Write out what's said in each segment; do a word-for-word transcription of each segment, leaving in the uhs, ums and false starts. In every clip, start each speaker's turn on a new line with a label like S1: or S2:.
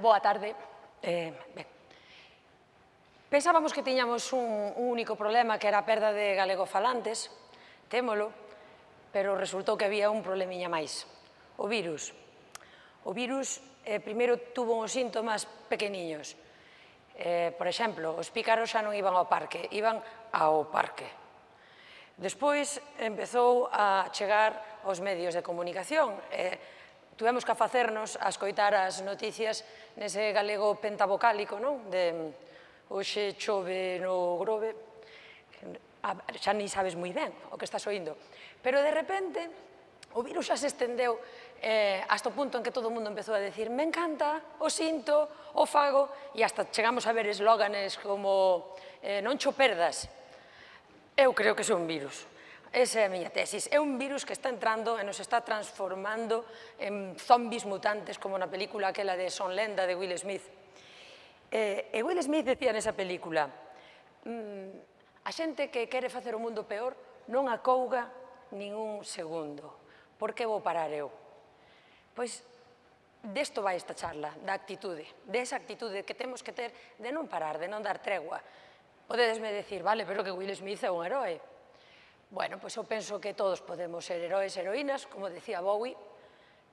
S1: boa tarde. Eh, ben. Pensábamos que tiñamos un, un único problema, que era a perda de galegofalantes, témolo, pero resultou que había un problemiña máis, o virus. O virus, eh, primeiro, tuvo uns síntomas pequeniños. Eh, por exemplo, os pícaros xa non iban ao parque, iban ao parque. Despois empezou a chegar aos medios de comunicación. Eh, tuvemos que facernos a escoitar as noticias nese galego pentavocálico, non? De hoxe chove no Grove, xa ni sabes moi ben o que estás oindo. Pero de repente o virus xa se estendeu eh, hasta o punto en que todo o mundo empezou a decir me encanta, o sinto, o fago, e hasta chegamos a ver eslóganes como eh, non cho perdas. Eu creo que é un virus. Esa é a miña tesis. É un virus que está entrando e nos está transformando en zombis mutantes, como na película aquela de Son Lenda, de Will Smith. E Will Smith decía nesa película, a xente que quere facer o mundo peor non acouga nin un segundo. Por que vou parar eu? Pois desto vai esta charla, da actitude, desa actitude que temos que ter de non parar, de non dar tregua. Podedesme decir, vale, pero que Will Smith é un heroe. Bueno, pois eu penso que todos podemos ser heroes e heroínas, como decía Bowie.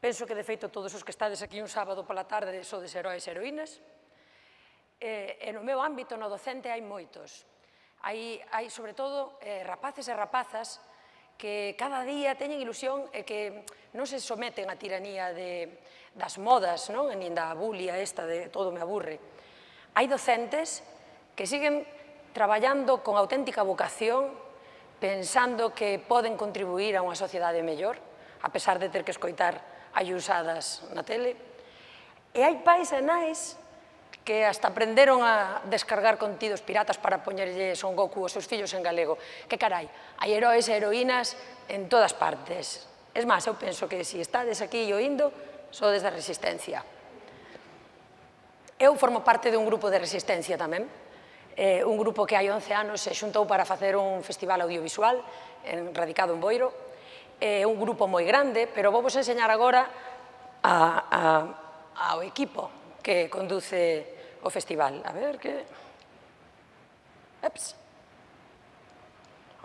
S1: Penso que, de feito, todos os que estades aquí un sábado pola tarde sodes heroes e heroínas. E no meu ámbito, no docente, hai moitos. Hai, sobre todo, rapaces e rapazas que cada día teñen ilusión e que non se someten á tiranía das modas, nin da bulia esta de todo me aburre. Hai docentes que siguen traballando con auténtica vocación, pensando que poden contribuir a unha sociedade mellor, a pesar de ter que escoitar ayusadas na tele. E hai pais e nais que hasta aprenderon a descargar contidos piratas para poñerlle Son Goku aos seus fillos en galego. Que carai, hai heroes e heroínas en todas partes. Es máis, eu penso que se estades aquí oindo, sodes da Resistencia. Eu formo parte dun grupo de Resistencia tamén, un grupo que hai once anos se xuntou para facer un festival audiovisual radicado en Boiro. É un grupo moi grande, pero vou vos enseñar agora ao equipo que conduce o festival. A ver, que... Eps.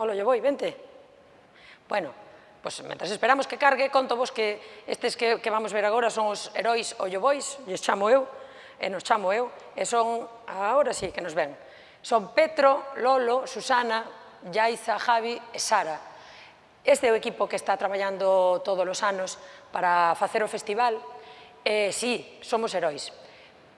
S1: Olo, yo vou, vente. Bueno, pois, mentras esperamos que cargue, conto vos que estes que vamos ver agora son os heróis o Llobois, lles chamo eu, e nos chamo eu, e son, agora sí que nos ven, son Petro, Lolo, Susana, Yaiza, Javi e Sara. Este é o equipo que está traballando todos os anos para facer o festival. E, sí, somos heróis,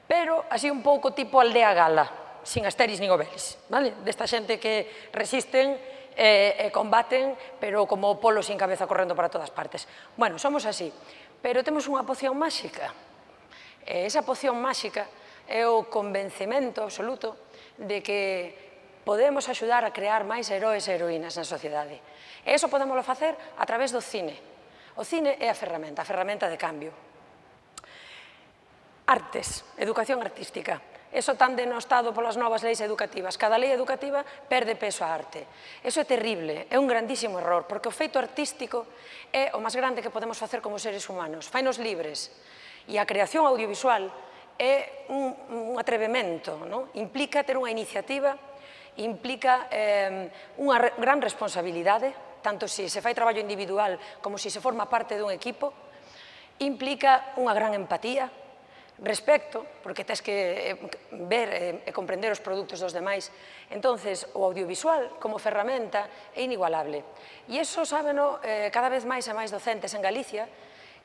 S1: pero así un pouco tipo aldea gala, sin Asteris nin Obelix, vale? Desta xente que resisten e combaten, pero como polo sin cabeza correndo para todas partes. Bueno, somos así, pero temos unha poción máxica. E esa poción máxica é o convencemento absoluto de que podemos axudar a crear máis heróis e heroínas na sociedade. E iso podémoslo facer a través do cine. O cine é a ferramenta, a ferramenta de cambio. Artes, educación artística. Eso tan denostado polas novas leis educativas. Cada lei educativa perde peso á arte. Eso é terrible, é un grandísimo error, porque o feito artístico é o máis grande que podemos facer como seres humanos. Fainos libres. E a creación audiovisual é un atrevemento, implica ter unha iniciativa, implica unha gran responsabilidade, tanto se se fai traballo individual como se se forma parte dun equipo, implica unha gran empatía, respecto, porque tens que ver e comprender os produtos dos demais. Entonces, o audiovisual como ferramenta é inigualable. E iso sábeno cada vez máis e máis docentes en Galicia,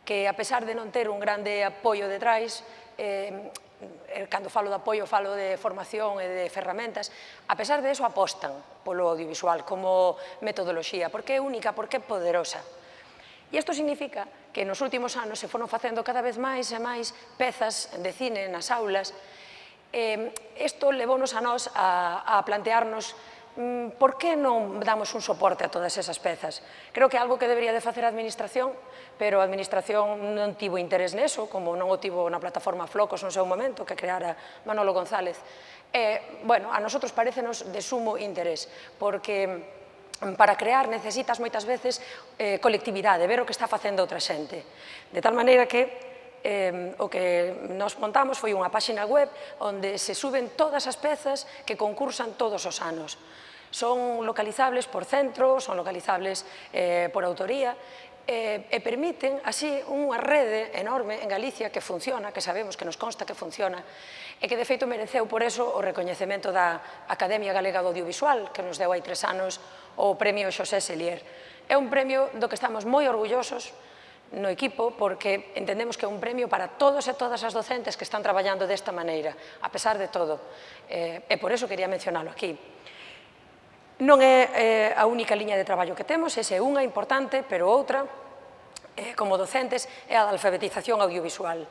S1: que a pesar de non ter un grande apoio detrás, cando falo de apoio falo de formación e de ferramentas, a pesar de eso apostan polo audiovisual como metodoloxía, porque é única, porque é poderosa. E isto significa que nos últimos anos se foron facendo cada vez máis e máis pezas de cine nas aulas. Isto levounos a nós a plantearnos por que non damos un soporte a todas esas pezas. Creo que é algo que debería de facer a Administración, pero a Administración non tivo interés neso, como non o tivo na plataforma Flocos no seu momento, que creara Manolo González. E, bueno, a nosotros parecenos de sumo interés, porque para crear necesitas moitas veces colectividade, ver o que está facendo outra xente. De tal maneira que o que nos montamos foi unha páxina web onde se suben todas as pezas que concursan todos os anos. Son localizables por centro, son localizables por autoría, e permiten así unha rede enorme en Galicia que funciona, que sabemos, que nos consta que funciona, e que de feito mereceu por eso o recoñecemento da Academia Galega do Audiovisual, que nos deu hai tres anos o premio Xosé Selier. É un premio do que estamos moi orgullosos no equipo, porque entendemos que é un premio para todos e todas as docentes que están traballando desta maneira, a pesar de todo, e por eso quería mencionalo aquí. Non é a única liña de traballo que temos, esa é unha importante, pero outra, como docentes, é a da alfabetización audiovisual.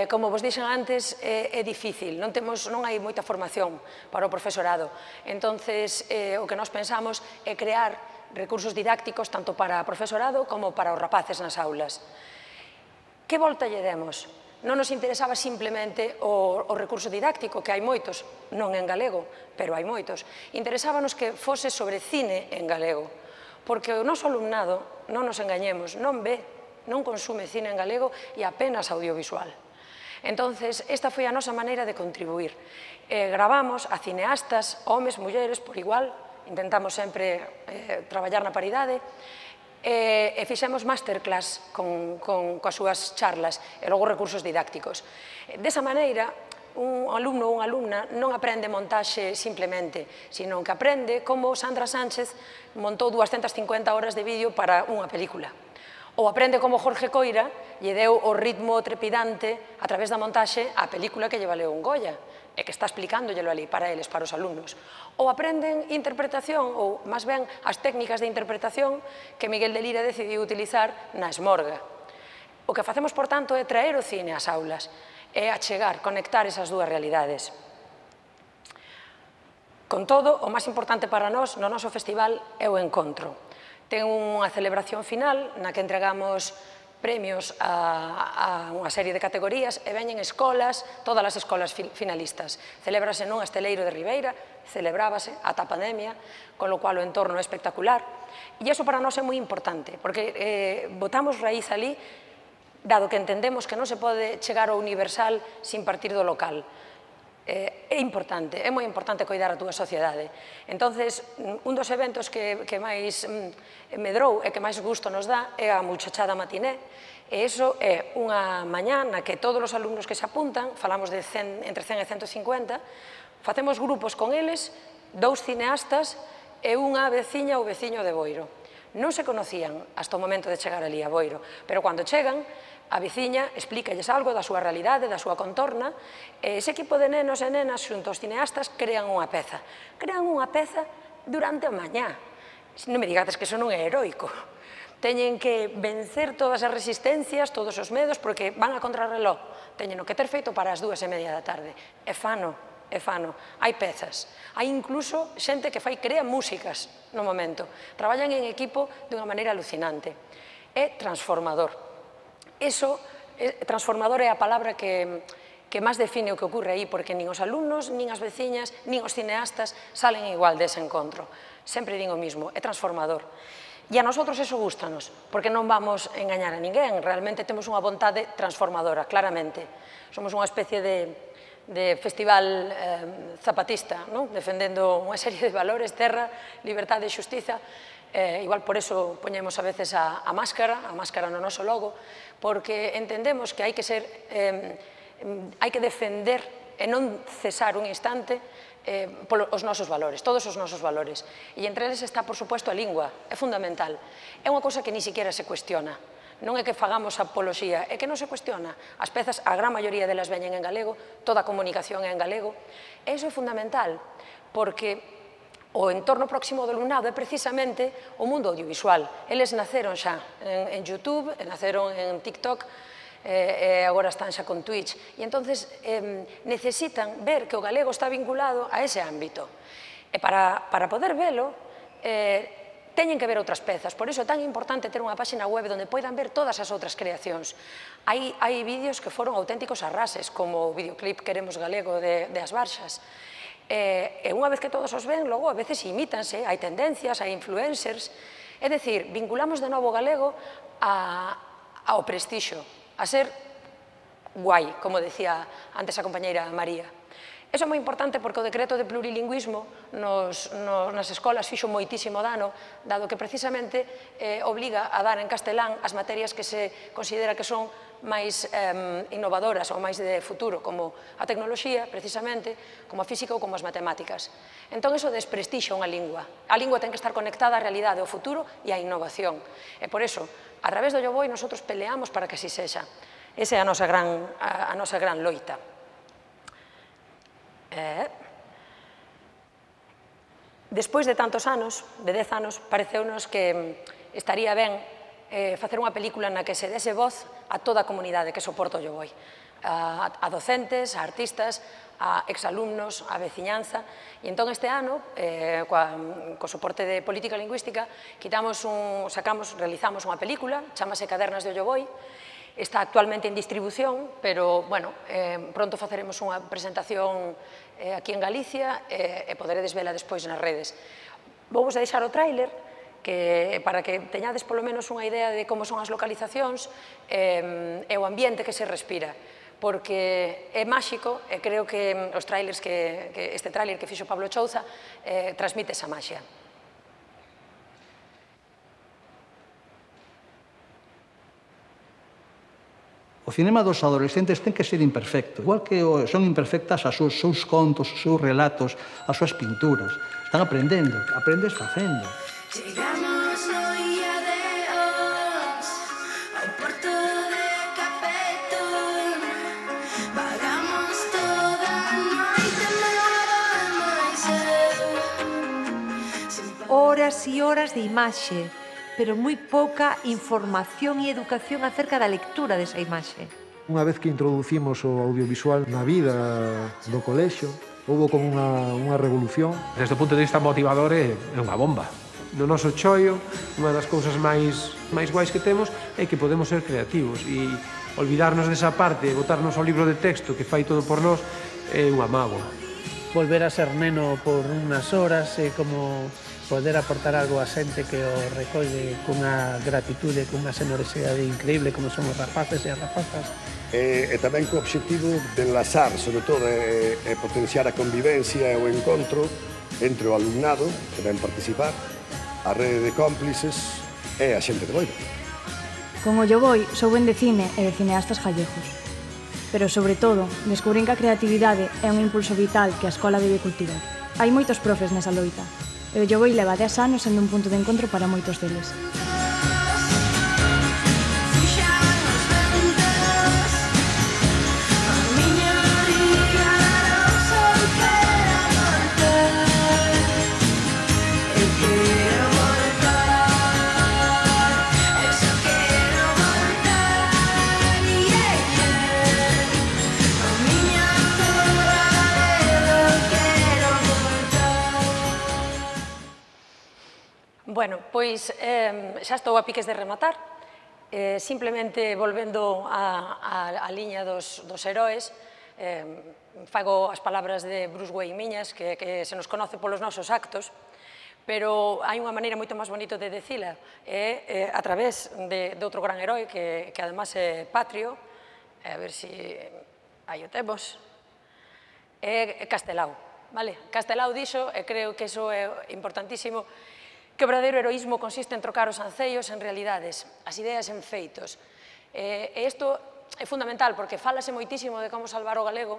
S1: Como vos dixen antes, é difícil, non hai moita formación para o profesorado. Entonces, o que nós pensamos é crear recursos didácticos tanto para o profesorado como para os rapaces nas aulas. Que volta lle demos? Non nos interesaba simplemente o recurso didáctico, que hai moitos, non en galego, pero hai moitos. Interesábanos que fose sobre cine en galego, porque o noso alumnado, non nos engañemos, non ve, non consume cine en galego e apenas audiovisual. Entonces, esta foi a nosa maneira de contribuir. Gravamos a cineastas, homes, mulleres, por igual, intentamos sempre traballar na paridade, e fixemos masterclass coas súas charlas e logo recursos didácticos. Desa maneira, un alumno ou unha alumna non aprende montaxe simplemente, sino que aprende como Sandra Sánchez montou dúascentas cincuenta horas de vídeo para unha película. Ou aprende como Jorge Coira lle deu o ritmo trepidante a través da montaxe á película que lle valeu un Goya, e que está explicándolo ali para eles, para os alumnos. Ou aprenden interpretación, ou, máis ben, as técnicas de interpretación que Miguel de Lira decidiu utilizar na Esmorga. O que facemos, por tanto, é traer o cine ás aulas, é achegar, conectar esas dúas realidades. Con todo, o máis importante para nós no noso festival é o encontro. Ten unha celebración final na que entregamos premios a unha serie de categorías e veñen escolas, todas as escolas finalistas. Celébrase nun Esteleiro de Ribeira, celebrábase ata a pandemia, con lo cual o entorno é espectacular. E iso para nós é moi importante, porque botamos raíz ali, dado que entendemos que non se pode chegar ao universal sin partir do local. É importante, é moi importante coidar a túa sociedade. Entonces, un dos eventos que máis medrou e que máis gusto nos dá é a muchachada matiné, e iso é unha mañá na que todos os alumnos que se apuntan, falamos de entre cen e ciento cincuenta, facemos grupos con eles, dous cineastas e unha veciña ou veciño de Boiro. Non se conocían hasta o momento de chegar ali a Boiro, pero cando chegan, a veciña explícalles algo da súa realidade, da súa contorna, e ese equipo de nenos e nenas xunto aos cineastas crean unha peza. Crean unha peza durante a mañá. Non me digades que iso non é heroico. Teñen que vencer todas as resistencias, todos os medos, porque van a contrarreloj. Teñen o que ter feito para as dúas e media da tarde. É fano, é fano. Hai pezas. Hai incluso xente que fai, crea músicas no momento. Traballan en equipo de unha maneira alucinante. É transformador. Eso, transformador é a palabra que máis define o que ocorre aí, porque nin os alumnos, nin as veciñas, nin os cineastas salen igual dese encontro. Sempre din o mismo, é transformador. E a nosotros eso gústanos, porque non vamos engañar a ninguén, realmente temos unha vontade transformadora, claramente. Somos unha especie de festival zapatista, defendendo unha serie de valores, terra, liberdade e xustiza. Igual por eso poñemos a veces a máscara, a máscara no noso logo, porque entendemos que hai que ser, hai que defender e non cesar un instante os nosos valores, todos os nosos valores. E entre eles está, por suposto, a lingua, é fundamental. É unha cousa que ni siquiera se cuestiona. Non é que fagamos apoloxía, é que non se cuestiona. As pezas, a gran maioría delas veñen en galego, toda a comunicación é en galego. E iso é fundamental, porque o entorno próximo do alumnado é precisamente o mundo audiovisual. Eles naceron xa en YouTube, naceron en TikTok, e agora están xa con Twitch. E entonces necesitan ver que o galego está vinculado a ese ámbito. E para poder velo, teñen que ver outras pezas. Por iso é tan importante ter unha páxina web onde poidan ver todas as outras creacións. Hai vídeos que foron auténticos arrases, como o videoclip Queremos Galego de As Barxas. E unha vez que todos os ven, logo a veces imítanse, hai tendencias, hai influencers. É dicir, vinculamos de novo o galego ao prestixio, a ser guai, como decía antes a compañeira María. Iso é moi importante porque o decreto de plurilingüismo nos, no, nas escolas fixo moitísimo dano, dado que precisamente eh, obliga a dar en castelán as materias que se considera que son máis eh, innovadoras ou máis de futuro, como a tecnoloxía, precisamente, como a física ou como as matemáticas. Entón, iso desprestixa unha lingua. A lingua ten que estar conectada á realidade, ao futuro e á innovación. E por iso, a través do Lloboi, nosotros peleamos para que así sexa. Esa é a nosa gran, a, a nosa gran loita. Eh, despois de tantos anos, de dez anos, pareceunos que estaría ben eh, facer unha película na que se dese voz a toda a comunidade que soporta o Lloboi, a, a docentes, a artistas, a exalumnos, a veciñanza, e entón este ano, eh, coa, co soporte de política lingüística, quitamos un, sacamos, realizamos unha película, chamase Cadernas de Lloboi. Está actualmente en distribución, pero, bueno, eh, pronto faceremos unha presentación eh, aquí en Galicia eh, e poderedes vela despois nas redes. Vou vos deixar o tráiler que, para que teñades polo menos unha idea de como son as localizacións eh, e o ambiente que se respira, porque é máxico e creo que os trailers que, que este tráiler que fixo Pablo Chouza eh, transmite esa maxia.
S2: O cinema dos adolescentes ten que ser imperfecto, igual que son imperfectas os seus contos, os seus relatos, as súas pinturas. Están aprendendo, aprendes facendo.
S3: Chegamos no día de hoxe ao porto de Capetón, vagamos toda a noite máis cedo.
S4: Horas e horas de imaxe, pero moi pouca información e educación acerca da lectura desa imaxe.
S5: Unha vez que introducimos o audiovisual na vida do colexio, houve como unha, unha revolución.
S6: Desde o punto de vista motivador é unha bomba. No noso choio, unha das cousas máis, máis guais que temos é que podemos ser creativos e olvidarnos desa parte e botarnos ao libro de texto que fai todo por nós é unha mágoa.
S7: Volver a ser neno por unhas horas é como poder aportar algo a xente que o recolle cunha gratitude, cunha xenerosidade increíble como son os rapaces e as rapazas.
S8: E, e tamén co obxectivo de enlazar, sobre todo, e, e potenciar a convivencia e o encontro entre o alumnado que ven participar, a rede de cómplices e a xente de Boiro.
S9: Con o Lloboi souben de cine e de cineastas gallegos. Pero, sobre todo, descubrín que a creatividade é un impulso vital que a escola debe cultivar. Hai moitos profes nesa loita, e o Lloboi leva dez anos sendo un punto de encontro para moitos deles.
S1: Bueno, pois eh, xa estou a piques de rematar, eh, simplemente volvendo a, a, a liña dos, dos heróis, eh, fago as palabras de Bruce Wayne miñas, que, que se nos conoce polos nosos actos, pero hai unha maneira moito máis bonita de decila, é eh, a través de, de outro gran herói, que, que además é patrio, a ver se aí o temos, é Castelao, vale? Castelao dixo, e creo que iso é importantísimo, que o verdadeiro heroísmo consiste en trocar os ancellos en realidades, as ideas en feitos. E isto é fundamental, porque falase moitísimo de como salvar o galego,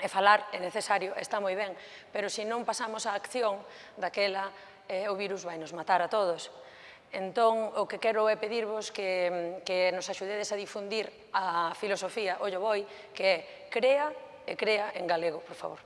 S1: e falar é necesario, está moi ben, pero se non pasamos á acción daquela, eh, o virus vai nos matar a todos. Entón, o que quero é pedirvos que, que nos axudedes a difundir a filosofía, o Lloboi, que é crea e crea en galego, por favor.